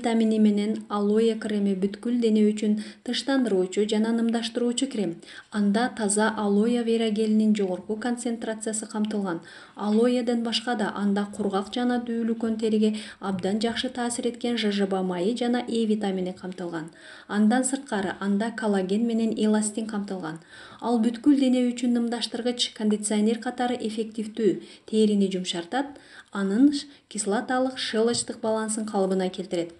витамини менен алоэ креми бүткүл дене үчүн тынчтандыруучу жана нымдаштыруучу крем. Анда таза алоэ вера гелинин жогорку концентрациясы камтылган. Алоэден башка да анда кургак жана дүүлүккөн териге абдан жакшы таасир эткен жожоба майы жана Е витамини камтылган. Андан сырткары анда коллаген менен эластин камтылган. Ал бүткүл дене үчүн нымдаштыргыч кондиционер катары эффективдүү, терини жумшартат, анын кислоталык щелочтук балансын калыбына келтирет.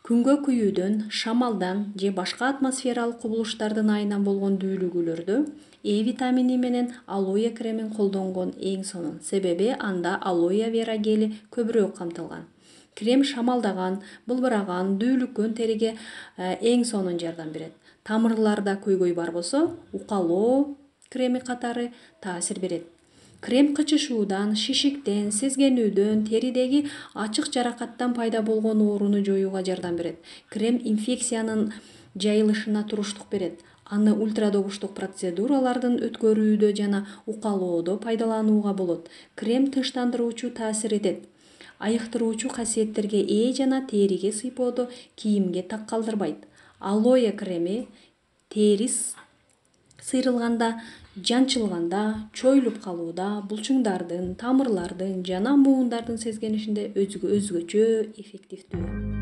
Күнгө күйүүдөн, шамалдан же башка атмосфералык кубулуштардын айынан болгон дүүлүгүүлөрдө Е витамини менен алоэ кремин колдонгон эң сонун. Себеби анда алоэ вера гели көбүрөөк камтылган. Крем шамалдаган, былбыраган, дүүлүккөн териге эң сонун жардам берет. Тамырларда көйгөй бар болсо, укалоо креми катары таасир берет. Крем кычышуудан, шишиктен, сезгенүүдөн, теридеги ачык жаракаттан пайда болгон ооруну жоюуга жардам берет. Крем инфекциянын жайылышына туруштук берет. Аны ультрадогуштук процедуралардын өткөрүүдө жана укалоодо пайдаланууга болот. Крем тынчтандыруучу таасир этет. Айыктыруучу касиеттерге ээ жана териге сыйпоодо кийимге так калтырбайт. Алоэ креми тери сыйрылганда, жанчылганда, чоюлуп калууда, булчуңдардын, тамырлардын жана муундардын сезгенишинде өзгөчө эффективдүү.